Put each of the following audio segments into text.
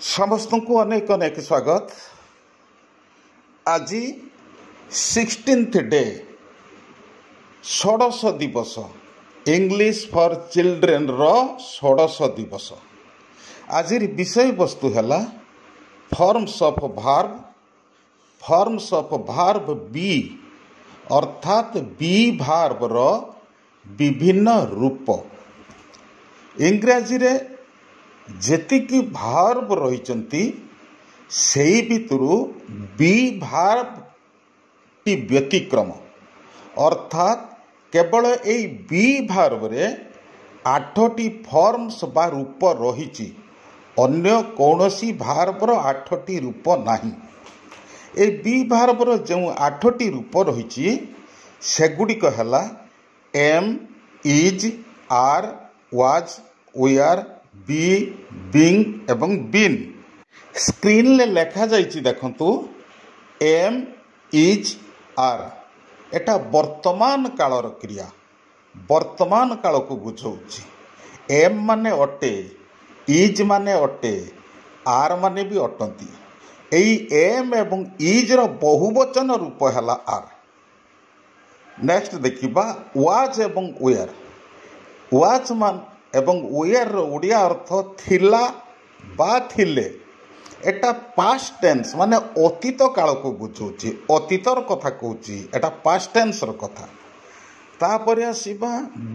ସମସ୍ତଙ୍କୁ ଅନେକ ଅନେକ ସ୍ୱାଗତ। ଆଜି 16th day, ଷୋଡ଼ଶ ଦିବସ, ଇଂଲିଶ ଫର୍ ଚିଲଡ୍ରେନ୍ର ଷୋଡ଼ଶ ଦିବସ। ଆଜିର ବିଷୟବସ୍ତୁ ହେଲା forms of verb, forms of verb be, ଅର୍ଥାତ୍ ବି ଭାର୍ବର ବିଭିନ୍ନ ରୂପ। ଇଂରାଜୀରେ ଯେତିକି ଭାର୍ବ ରହିଛନ୍ତି, ସେଇ ଭିତରୁ ବି ଭାର୍ବଟି ବ୍ୟତିକ୍ରମ, ଅର୍ଥାତ୍ କେବଳ ଏଇ ବି ଭାର୍ବରେ 8ଟି ଫର୍ମସ୍ ବା ରୂପ ରହିଛି। ଅନ୍ୟ କୌଣସି ଭାର୍ବର 8ଟି ରୂପ ନାହିଁ। ଏଇ ବି ଭାର୍ବର ଯେଉଁ 8ଟି ରୂପ ରହିଛି, ସେଗୁଡ଼ିକ ହେଲା am, is, are, was, were, be, being ଏବଂ ବିନ୍। ସ୍କ୍ରିନ୍ରେ ଲେଖାଯାଇଛି ଦେଖନ୍ତୁ, ଏମ୍, is, ଆର୍ ଏଟା ବର୍ତ୍ତମାନ କାଳର କ୍ରିୟା, ବର୍ତ୍ତମାନ କାଳକୁ ବୁଝାଉଛି। ଏମ୍ ମାନେ ଅଟେ, is ମାନେ ଅଟେ, ଆର୍ ମାନେ ବି ଅଟନ୍ତି। ଏଇ ଏମ୍ ଏବଂ ଇଜ୍ର ବହୁବଚନ ରୂପ ହେଲା ଆର୍। ନେକ୍ସଟ ଦେଖିବା ୱାଜ୍ ଏବଂ ୱେୟାର। ୱାଜ୍ ମାନ ଏବଂ ୱେୟାରର ଓଡ଼ିଆ ଅର୍ଥ ଥିଲା ବା ଥିଲେ। ଏଟା ପାଷ୍ଟ ଟେନ୍ସ, ମାନେ ଅତୀତ କାଳକୁ ବୁଝାଉଛି, ଅତୀତର କଥା କହୁଛି, ଏଟା ପାଷ୍ଟ ଟେନ୍ସର କଥା। ତାପରେ ଆସିବା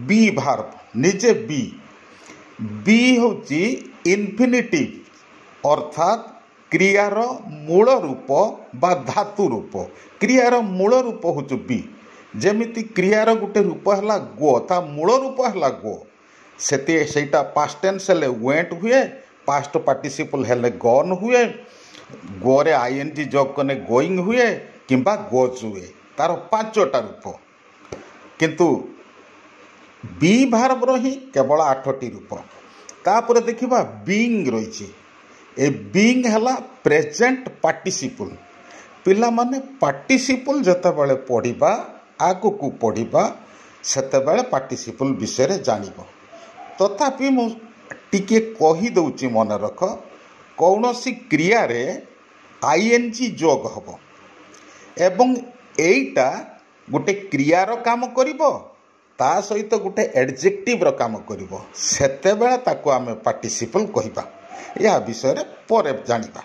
ବି ଭାର୍ବ ନିଜେ। ବି, ବି ହେଉଛି ଇନଫିନିଟିଭ୍, ଅର୍ଥାତ୍ କ୍ରିୟାର ମୂଳ ରୂପ ବା ଧାତୁ ରୂପ। କ୍ରିୟାର ମୂଳ ରୂପ ହେଉଛି ବି। ଯେମିତି କ୍ରିୟାର ଗୋଟେ ରୂପ ହେଲା ଗୋ, ତା ମୂଳ ରୂପ ହେଲା ଗୋ। ସେତି ସେଇଟା ପାଷ୍ଟ ଟେନ୍ସ ହେଲେ ୱେଣ୍ଟ ହୁଏ, ପାଷ୍ଟ ପାର୍ଟିସିପଲ୍ ହେଲେ ଗନ୍ ହୁଏ, ଗୋରେ I N G ଯୋଗ କଲେ ଗୋଇଂ ହୁଏ କିମ୍ବା ଗୋଜ୍ ହୁଏ। ତାର 5ଟା ରୂପ, କିନ୍ତୁ ବି ଭାର୍ବର ହିଁ କେବଳ 8ଟି ରୂପ। ତାପରେ ଦେଖିବା ବିଙ୍ଗ ରହିଛି। ଏ ବିଙ୍ଗ ହେଲା ପ୍ରେଜେଣ୍ଟ ପାର୍ଟିସିପଲ୍। ପିଲାମାନେ, ପାର୍ଟିସିପଲ୍ ଯେତେବେଳେ ପଢ଼ିବା, ଆଗକୁ ପଢ଼ିବା, ସେତେବେଳେ ପାର୍ଟିସିପଲ୍ ବିଷୟରେ ଜାଣିବ। ତଥାପି ମୁଁ ଟିକିଏ କହିଦେଉଛି, ମନେ ରଖ, କୌଣସି କ୍ରିୟାରେ I N G ଯୋଗ ହେବ ଏବଂ ଏଇଟା ଗୋଟେ କ୍ରିୟାର କାମ କରିବ, ତା ସହିତ ଗୋଟେ ଆଡ଼ଜେକ୍ଟିଭର କାମ କରିବ, ସେତେବେଳେ ତାକୁ ଆମେ ପାର୍ଟିସିପଲ୍ କହିବା। ଏହା ବିଷୟରେ ପରେ ଜାଣିବା।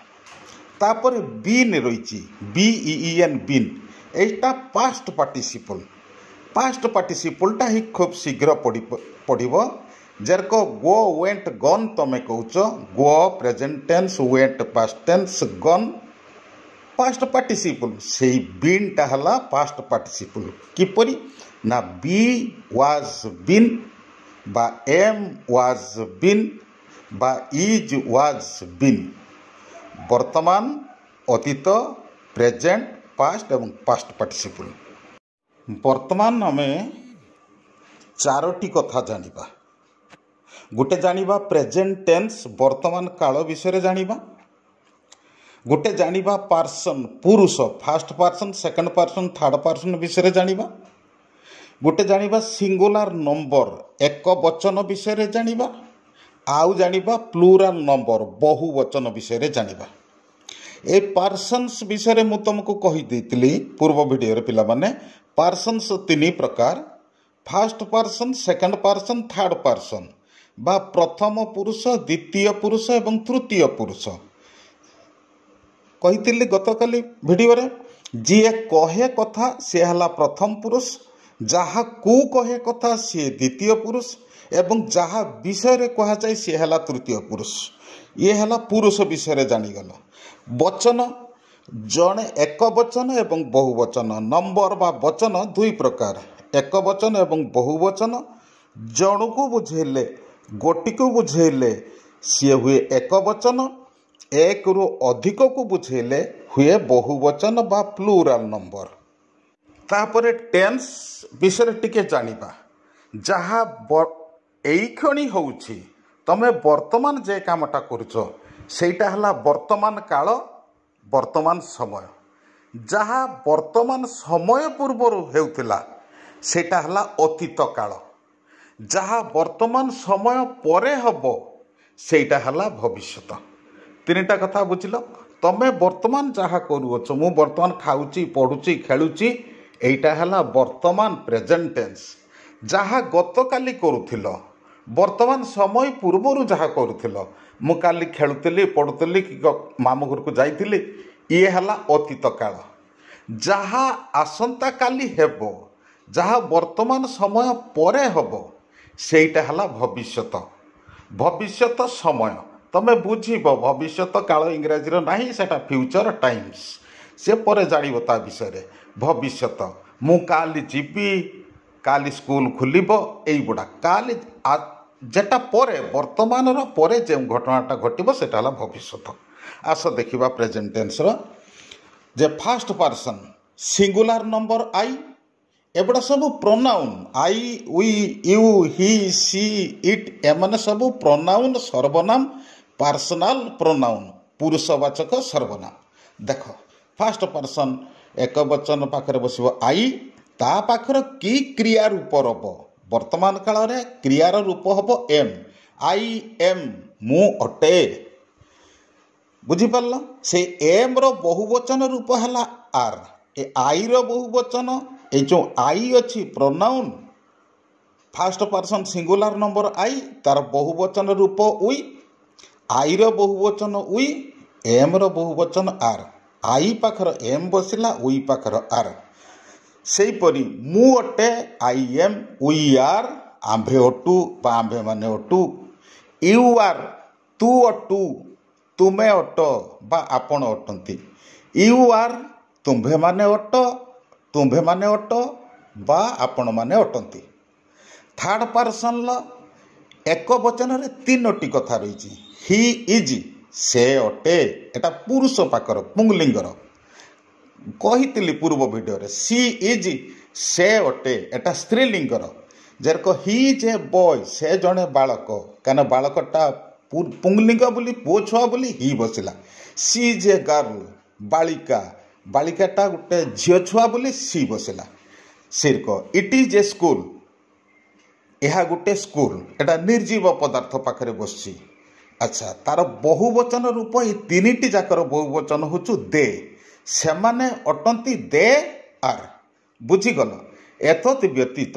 ତାପରେ ବିନ୍ ରହିଛି, ବି ଇ ଏନ୍, ବିନ୍। ଏଇଟା ପାଷ୍ଟ ପାର୍ଟିସିପଲ୍। ପାଷ୍ଟ ପାର୍ଟିସିପଲ୍ଟା ହିଁ ଖୁବ୍ ଶୀଘ୍ର ପଢ଼ିବ। ଯେରକ ଗୋ, ୱେଣ୍ଟ, ଗନ୍ ତମେ କହୁଛ, go present tense, went past tense, gone past participle, ସେଇ ବିନ୍ଟା ହେଲା ପାଷ୍ଟ ପାର୍ଟିସିପଲ୍। କିପରି ନା ବି ୱାଜ୍ ବିନ୍ ବା ଏମ୍ ୱାଜ୍ ବିନ୍ ବା is was bin. ବର୍ତ୍ତମାନ, ଅତୀତ, ପ୍ରେଜେଣ୍ଟ, ପାଷ୍ଟ ଏବଂ ପାଷ୍ଟ ପାର୍ଟିସିପଲ୍। ବର୍ତ୍ତମାନ ଆମେ 4ଟି କଥା ଜାଣିବା। ଗୋଟେ ଜାଣିବା ପ୍ରେଜେଣ୍ଟ ଟେନ୍ସ, ବର୍ତ୍ତମାନ କାଳ ବିଷୟରେ ଜାଣିବା। ଗୋଟେ ଜାଣିବା ପାର୍ସନ୍, ପୁରୁଷ, first person, second person, third person ବିଷୟରେ ଜାଣିବା। ଗୋଟେ ଜାଣିବା ସିଙ୍ଗୁଲାର ନମ୍ବର, ଏକ ବଚନ ବିଷୟରେ ଜାଣିବା। ଆଉ ଜାଣିବା ପ୍ଲୁରାଲ ନମ୍ବର, ବହୁ ବଚନ ବିଷୟରେ ଜାଣିବା। ଏ ପାର୍ସନ୍ସ ବିଷୟରେ ମୁଁ ତୁମକୁ କହିଦେଇଥିଲି ପୂର୍ବ ଭିଡ଼ିଓରେ। ପିଲାମାନେ, ପାର୍ସନ୍ସ 3 ପ୍ରକାର, first person, second person, third person, ବା ପ୍ରଥମ ପୁରୁଷ, ଦ୍ୱିତୀୟ ପୁରୁଷ ଏବଂ ତୃତୀୟ ପୁରୁଷ। କହିଥିଲି ଗତକାଲି ଭିଡ଼ିଓରେ, ଯିଏ କହେ କଥା ସିଏ ହେଲା ପ୍ରଥମ ପୁରୁଷ, ଯାହାକୁ କହେ କଥା ସିଏ ଦ୍ୱିତୀୟ ପୁରୁଷ ଏବଂ ଯାହା ବିଷୟରେ କୁହାଯାଏ ସିଏ ହେଲା ତୃତୀୟ ପୁରୁଷ। ଇଏ ହେଲା ପୁରୁଷ ବିଷୟରେ ଜାଣିଗଲ। ବଚନ, ଜଣେ, ଏକ ବଚନ ଏବଂ ବହୁ ବଚନ। ନମ୍ବର ବା ବଚନ 2 ପ୍ରକାର, ଏକ ବଚନ ଏବଂ ବହୁ ବଚନ। ଜଣକୁ ବୁଝେଇଲେ, ଗୋଟିକୁ ବୁଝେଇଲେ ସିଏ ହୁଏ ଏକ ବଚନ, ଏକରୁ ଅଧିକକୁ ବୁଝେଇଲେ ହୁଏ ବହୁ ବଚନ ବା ପ୍ଲୁରାଲ ନମ୍ବର। ତାପରେ ଟେନ୍ସ ବିଷୟରେ ଟିକେ ଜାଣିବା। ଯାହା ଏଇକ୍ଷଣି ହେଉଛି, ତମେ ବର୍ତ୍ତମାନ ଯେ କାମଟା କରୁଛ, ସେଇଟା ହେଲା ବର୍ତ୍ତମାନ କାଳ, ବର୍ତ୍ତମାନ ସମୟ। ଯାହା ବର୍ତ୍ତମାନ ସମୟ ପୂର୍ବରୁ ହେଉଥିଲା, ସେଇଟା ହେଲା ଅତୀତ କାଳ। ଯାହା ବର୍ତ୍ତମାନ ସମୟ ପରେ ହେବ, ସେଇଟା ହେଲା ଭବିଷ୍ୟତ। ତିନିଟା କଥା ବୁଝିଲ। ତମେ ବର୍ତ୍ତମାନ ଯାହା କରୁଅଛ, ମୁଁ ବର୍ତ୍ତମାନ ଖାଉଛି, ପଢ଼ୁଛି, ଖେଳୁଛି, ଏଇଟା ହେଲା ବର୍ତ୍ତମାନ ପ୍ରେଜେଣ୍ଟ ଟେନ୍ସ। ଯାହା ଗତକାଲି କରୁଥିଲ, ବର୍ତ୍ତମାନ ସମୟ ପୂର୍ବରୁ ଯାହା କରୁଥିଲ, ମୁଁ କାଲି ଖେଳୁଥିଲି, ପଢ଼ୁଥିଲି କି ମାମୁଁ ଘରକୁ ଯାଇଥିଲି, ଇଏ ହେଲା ଅତୀତ କାଳ। ଯାହା ଆସନ୍ତାକାଲି ହେବ, ଯାହା ବର୍ତ୍ତମାନ ସମୟ ପରେ ହେବ, ସେଇଟା ହେଲା ଭବିଷ୍ୟତ, ଭବିଷ୍ୟତ ସମୟ। ତମେ ବୁଝିବ ଭବିଷ୍ୟତ କାଳ ଇଂରାଜୀର ନାହିଁ, ସେଇଟା ଫ୍ୟୁଚର ଟାଇମ୍ସ, ସେ ପରେ ଜାଣିବ ତା ବିଷୟରେ। ଭବିଷ୍ୟତ, ମୁଁ କାଲି ଯିବି, କାଲି ସ୍କୁଲ ଖୋଲିବ, ଏଇଗୁଡ଼ା କାଲି ଯେଟା ପରେ, ବର୍ତ୍ତମାନର ପରେ ଯେଉଁ ଘଟଣାଟା ଘଟିବ ସେଇଟା ହେଲା ଭବିଷ୍ୟତ। ଆସ ଦେଖିବା ପ୍ରେଜେଣ୍ଟ ଟେନ୍ସର ଯେ first person singular number I, ଏଗୁଡ଼ା ସବୁ pronoun. I, we, you, he, she, it, ଏମାନେ ସବୁ ପ୍ରୋନାଉନ୍, ସର୍ବନାମ, ପାର୍ସନାଲ ପ୍ରୋନାଉନ୍, ପୁରୁଷବାଚକ ସର୍ବନାମ। ଦେଖ, ଫାଷ୍ଟ ପର୍ସନ୍ ଏକ ବଚନ ପାଖରେ ବସିବ I, ତା ପାଖରେ କି କ୍ରିୟା ରୂପ ରବ? ବର୍ତ୍ତମାନ କାଳରେ କ୍ରିୟାର ରୂପ ହେବ ଏମ୍। I M, ମୁଁ ଅଟେ। ବୁଝିପାରିଲ? ସେ ଏମ୍ର ବହୁବଚନ ରୂପ ହେଲା ଆର୍। ଏ ଆଇର ବହୁବଚନ, ଏଇ ଯେଉଁ I ଅଛି pronoun, first person singular number I, ତାର ବହୁବଚନ ରୂପ we, ଆଇର ବହୁବଚନ we, ଏମ୍ର ବହୁବଚନ ଆର୍। I ପାଖରେ ଏମ୍ ବସିଲା, we ପାଖରେ ଆର୍। ସେହିପରି ମୁଁ ଅଟେ, I M, we ଆର୍, ଆମ୍ଭେ ଅଟୁ ବା ଆମ୍ଭେମାନେ ଅଟୁ। You ଆର୍, ତୁ ଅଟୁ, ତୁମେ ଅଟ ବା ଆପଣ ଅଟନ୍ତି। You ଆର୍, ତୁମ୍ଭେମାନେ ଅଟ, ତୁମ୍ଭେମାନେ ଅଟ ବା ଆପଣମାନେ ଅଟନ୍ତି। ଥାର୍ଡ଼ ପାର୍ସନ୍ର ଏକ ବଚନରେ ତିନୋଟି କଥା ରହିଛି। He is, ସେ ଅଟେ, ଏଟା ପୁରୁଷ ପାଖର ପୁଂଲିଙ୍ଗର, କହିଥିଲି ପୂର୍ବ ଭିଡ଼ିଓରେ। ସି is, ସେ ଅଟେ, ଏଟା ସ୍ତ୍ରୀଲିଙ୍ଗର। ଯେରକ he is a boy, ସେ ଜଣେ ବାଳକ, କାହିଁକିନା ବାଳକଟା ପୁଂଲିଙ୍ଗ ବୋଲି, ପୁଅ ଛୁଆ ବୋଲି ହି ବସିଲା। ସି is a girl, ବାଳିକା, ବାଳିକାଟା ଗୋଟେ ଝିଅ ଛୁଆ ବୋଲି ସି ବସିଲା। ସେରକ it is a school, ଏହା ଗୋଟେ ସ୍କୁଲ, ଏଟା ନିର୍ଜୀବ ପଦାର୍ଥ ପାଖରେ ବସିଛି। ଆଚ୍ଛା, ତାର ବହୁବଚନ ରୂପ ଏଇ ତିନିଟି ଯାକର ବହୁବଚନ ହେଉଛି ଦେ, ସେମାନେ ଅଟନ୍ତି, ଦେ ଆର୍। ବୁଝିଗଲ? ଏତଦ୍ ବ୍ୟତୀତ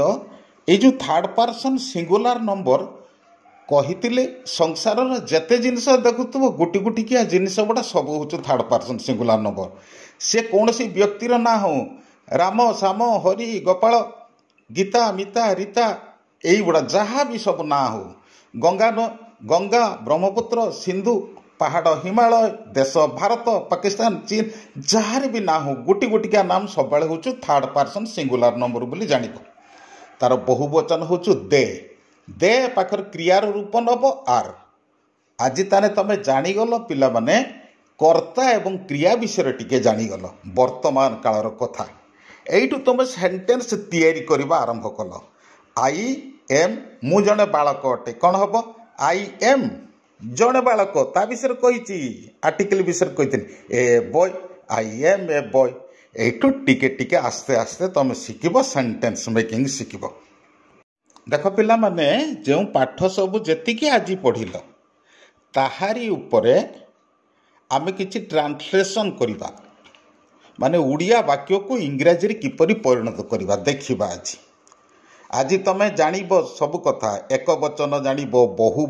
ଏଇ ଯେଉଁ ଥାର୍ଡ଼ ପର୍ସନ୍ ସିଙ୍ଗୁଲାର ନମ୍ବର କହିଥିଲେ, ସଂସାରର ଯେତେ ଜିନିଷ ଦେଖୁଥିବ ଗୋଟି ଗୋଟିକିଆ ଜିନିଷ ଗୁଡ଼ା ସବୁ ହେଉଛି ଥାର୍ଡ଼ ପର୍ସନ୍ ସିଙ୍ଗୁଲାର ନମ୍ବର। ସେ କୌଣସି ବ୍ୟକ୍ତିର ନାଁ ହଉ, ରାମ, ଶ୍ୟାମ, ହରି, ଗୋପାଳ, ଗୀତା, ମିତା, ରୀତା, ଏଇଗୁଡ଼ା ଯାହା ବି ସବୁ ନାଁ ହଉ, ଗଙ୍ଗା, ବ୍ରହ୍ମପୁତ୍ର, ସିନ୍ଧୁ, ପାହାଡ଼ ହିମାଳୟ, ଦେଶ ଭାରତ, ପାକିସ୍ତାନ, ଚୀନ, ଯାହାର ବି ନାଁ ହଉ, ଗୋଟି ଗୋଟିକିଆ ନାମ ସବୁବେଳେ ହେଉଛି ଥାର୍ଡ଼ ପର୍ସନ୍ ସିଙ୍ଗୁଲାର ନମ୍ବର ବୋଲି ଜାଣିବ। ତାର ବହୁବଚନ ହେଉଛି ଦେ, ଦେ ପାଖରେ କ୍ରିୟାର ରୂପ ନେବ ଆର୍। ଆଜି ତାହେଲେ ତମେ ଜାଣିଗଲ ପିଲାମାନେ, କର୍ତ୍ତା ଏବଂ କ୍ରିୟା ବିଷୟରେ ଟିକେ ଜାଣିଗଲ ବର୍ତ୍ତମାନ କାଳର କଥା। ଏଇଠୁ ତୁମେ ସେଣ୍ଟେନ୍ସ ତିଆରି କରିବା ଆରମ୍ଭ କଲ। I M, ମୁଁ ଜଣେ ବାଳକ ଅଟେ, କ'ଣ ହେବ? I M ଜଣେ ବାଳକ, ତା ବିଷୟରେ କହିଛି, ଆର୍ଟିକଲ ବିଷୟରେ କହିଥିଲି, a boy, I am a boy. ଏଇଠୁ ଟିକେ ଟିକେ ଆସ୍ତେ ଆସ୍ତେ ତୁମେ ଶିଖିବ, ସେଣ୍ଟେନ୍ସ ମେକିଂ ଶିଖିବ। ଦେଖ ପିଲାମାନେ, ଯେଉଁ ପାଠ ସବୁ ଯେତିକି ଆଜି ପଢ଼ିଲ ତାହାରି ଉପରେ ଆମେ କିଛି ଟ୍ରାନ୍ସଲେସନ୍ କରିବା, ମାନେ ଓଡ଼ିଆ ବାକ୍ୟକୁ ଇଂରାଜୀରେ କିପରି ପରିଣତ କରିବା ଦେଖିବା ଆଜି। ଆଜି ତମେ ଜାଣିବ ସବୁ କଥା, ଏକ ବଚନ ଜାଣିବ, ବହୁ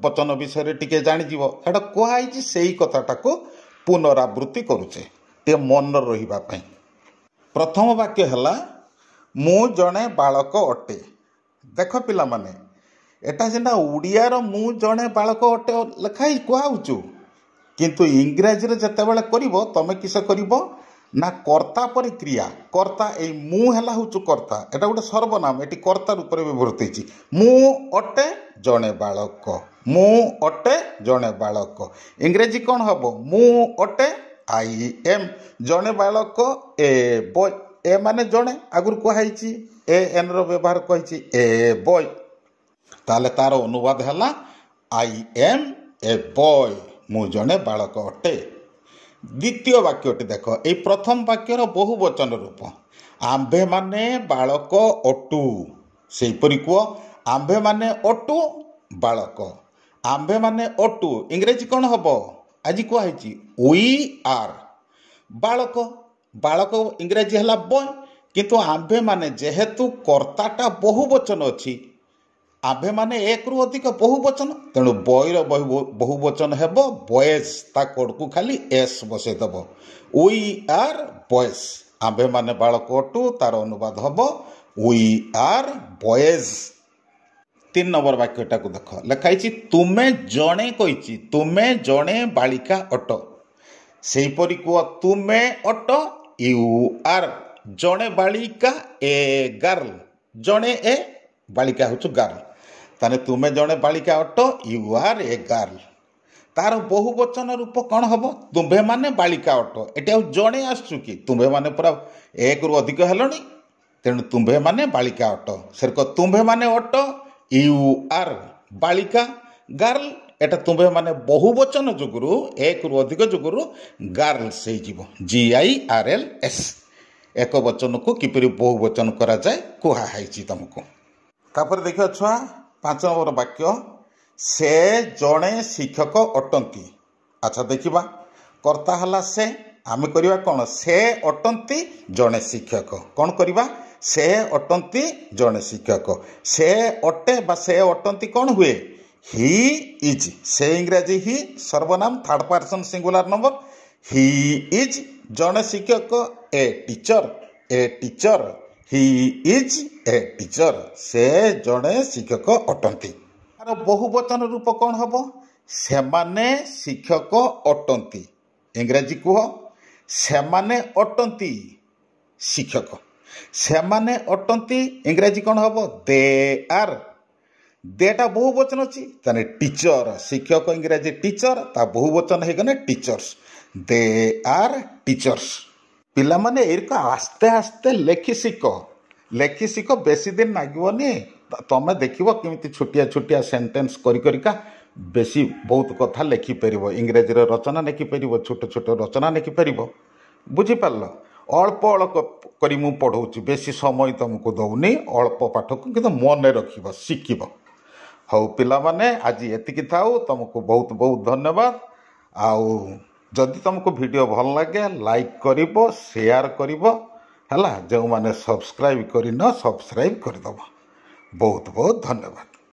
ବଚନ ବିଷୟରେ ଟିକେ ଜାଣିଯିବ। ଏଇଟା କୁହାହେଇଛି, ସେଇ କଥାଟାକୁ ପୁନରାବୃତ୍ତି କରୁଛେ ଟିକେ ମନ ରହିବା ପାଇଁ। ପ୍ରଥମ ବାକ୍ୟ ହେଲା ମୁଁ ଜଣେ ବାଳକ ଅଟେ। ଦେଖ ପିଲାମାନେ, ଏଟା ସିନା ଓଡ଼ିଆର ମୁଁ ଜଣେ ବାଳକ ଅଟେ ଲେଖା ହେଇ କୁହାହେଉଛୁ, କିନ୍ତୁ ଇଂରାଜୀରେ ଯେତେବେଳେ କରିବ ତମେ କିସ କରିବ ନା କର୍ତ୍ତା ପରେ କ୍ରିୟା। କର୍ତ୍ତା ଏଇ ମୁଁ ହେଲା ହେଉଛି କର୍ତ୍ତା, ଏଟା ଗୋଟେ ସର୍ବନାମ, ଏଠି କର୍ତ୍ତା ରୂପରେ ବ୍ୟବହୃତ ହେଇଛି। ମୁଁ ଅଟେ ଜଣେ ବାଳକ, ମୁଁ ଅଟେ ଜଣେ ବାଳକ। ଇଂରାଜୀ କ'ଣ ହେବ? ମୁଁ ଅଟେ, I M, ଜଣେ ବାଳକ, ଏ ବୟ। ଏ ମାନେ ଜଣେ, ଆଗରୁ କୁହାହେଇଛି, ଏ ଏନ୍ର ବ୍ୟବହାର କହିଛି, ଏ ବୟ। ତାହେଲେ ତାର ଅନୁବାଦ ହେଲା I M A boy, ମୁଁ ଜଣେ ବାଳକ ଅଟେ। ଦ୍ୱିତୀୟ ବାକ୍ୟଟି ଦେଖ, ଏଇ ପ୍ରଥମ ବାକ୍ୟର ବହୁ ବଚନ ରୂପ, ଆମ୍ଭେମାନେ ବାଳକ ଅଟୁ। ସେହିପରି କୁହ, ଆମ୍ଭେମାନେ ଅଟୁ ବାଳକ, ଆମ୍ଭେମାନେ ଅଟୁ। ଇଂରାଜୀ କ'ଣ ହେବ? ଆଜି କୁହାହେଇଛି we are ବାଳକ। ବାଳକ ଇଂରାଜୀ ହେଲା ବୟ, କିନ୍ତୁ ଆମ୍ଭେମାନେ ଯେହେତୁ କର୍ତ୍ତାଟା ବହୁ ବଚନ ଅଛି, ଆମ୍ଭେମାନେ ଏକରୁ ଅଧିକ ବହୁ ବଚନ, ତେଣୁ ବୟର ବହୁ ବଚନ ହେବ ବଏଜ୍, ତା କୋଡ଼କୁ ଖାଲି ଏସ୍ ବସେଇଦେବ। We are boys, ଆମ୍ଭେମାନେ ବାଳକ ଅଟୁ, ତାର ଅନୁବାଦ ହେବ we are boys. 3 number ବାକ୍ୟଟାକୁ ଦେଖ, ଲେଖା ହେଇଛି ତୁମେ ଜଣେ, କହିଛି ତୁମେ ଜଣେ ବାଳିକା ଅଟ। ସେହିପରି କୁହ ତୁମେ ଅଟ, you ଆର୍, ଜଣେ ବାଳିକା ଏ ଗାର୍ଲ, ଜଣେ ଏ ବାଳିକା ହେଉଛୁ ଗାର୍ଲ, ତାହେଲେ ତୁମେ ଜଣେ ବାଳିକା ଅଟ, you R A girl. ତାର ବହୁ ବଚନ ରୂପ କ'ଣ ହେବ? ତୁମ୍ଭେମାନେ ବାଳିକା ଅଟ। ଏଠି ଆଉ ଜଣେ ଆସୁଛୁ କି? ତୁମ୍ଭେମାନେ ପୁରା ଏକରୁ ଅଧିକ ହେଲଣି, ତେଣୁ ତୁମ୍ଭେମାନେ ବାଳିକା ଅଟ। ସେରକ ତୁମ୍ଭେମାନେ ଅଟ, you ଆର୍, ବାଳିକା ଗାର୍ଲ, ଏଟା ତୁମ୍ଭେମାନେ ବହୁ ବଚନ ଯୋଗୁରୁ, ଏକରୁ ଅଧିକ ଯୋଗୁରୁ ଗାର୍ଲସ ହେଇଯିବ, GIRLS। ଏକ ବଚନକୁ କିପରି ବହୁ ବଚନ କରାଯାଏ କୁହାହେଇଛି ତୁମକୁ। ତାପରେ ଦେଖିବ ଛୁଆ 5 ନମ୍ବର ବାକ୍ୟ, ସେ ଜଣେ ଶିକ୍ଷକ ଅଟନ୍ତି। ଆଚ୍ଛା ଦେଖିବା, କର୍ତ୍ତା ହେଲା ସେ, ଆମେ କରିବା କ'ଣ? ସେ ଅଟନ୍ତି ଜଣେ ଶିକ୍ଷକ। କ'ଣ କରିବା? ସେ ଅଟନ୍ତି ଜଣେ ଶିକ୍ଷକ। ସେ ଅଟେ ବା ସେ ଅଟନ୍ତି କ'ଣ ହୁଏ? He is. ସେ ଇଂରାଜୀ ହି, ସର୍ବନାମ, third person singular number. He is ଜଣେ ଶିକ୍ଷକ, a teacher, a teacher, he is a teacher, ସେ ଜଣେ ଶିକ୍ଷକ ଅଟନ୍ତି। ତାର ବହୁ ବଚନ ରୂପ କ'ଣ ହେବ? ସେମାନେ ଶିକ୍ଷକ ଅଟନ୍ତି। ଇଂରାଜୀ କୁହ ସେମାନେ ଅଟନ୍ତି ଶିକ୍ଷକ। ସେମାନେ ଅଟନ୍ତି ଇଂରାଜୀ କ'ଣ ହେବ? ଦେ ଆର୍। ଦେଟା ବହୁ ବଚନ ଅଛି, ତାହେଲେ ଟିଚର, ଶିକ୍ଷକ ଇଂରାଜୀ ଟିଚର, ତା ବହୁ ବଚନ ହେଇଗଲେ ଟିଚର୍ସ, ଦେ ଆର୍ ଟିଚର୍ସ। ପିଲାମାନେ ଏଇରକ ଆସ୍ତେ ଆସ୍ତେ ଲେଖି ଶିଖ, ଲେଖି ଶିଖ, ବେଶୀ ଦିନ ଲାଗିବନି। ତମେ ଦେଖିବ କେମିତି ଛୋଟିଆ ଛୋଟିଆ ସେଣ୍ଟେନ୍ସ କରି କରିକା ବେଶୀ ବହୁତ କଥା ଲେଖିପାରିବ, ଇଂରାଜୀର ରଚନା ଲେଖିପାରିବ, ଛୋଟ ଛୋଟ ରଚନା ଲେଖିପାରିବ। ବୁଝିପାରିଲ? ଅଳ୍ପ ଅଳ୍ପ କରି ମୁଁ ପଢ଼ଉଛି, ବେଶୀ ସମୟ ତୁମକୁ ଦେଉନି, ଅଳ୍ପ ପାଠକୁ କିନ୍ତୁ ମନେ ରଖିବ, ଶିଖିବ। ହଉ ପିଲାମାନେ, ଆଜି ଏତିକି ଥାଉ। ତୁମକୁ ବହୁତ ବହୁତ ଧନ୍ୟବାଦ। ଆଉ ଯଦି ତୁମକୁ ଭିଡ଼ିଓ ଭଲ ଲାଗେ ଲାଇକ୍ କରିବ, ସେୟାର କରିବ, ହେଲା। ଯେଉଁମାନେ ସବସ୍କ୍ରାଇବ୍ କରିନ ସବସ୍କ୍ରାଇବ୍ କରିଦେବ। ବହୁତ ବହୁତ ଧନ୍ୟବାଦ।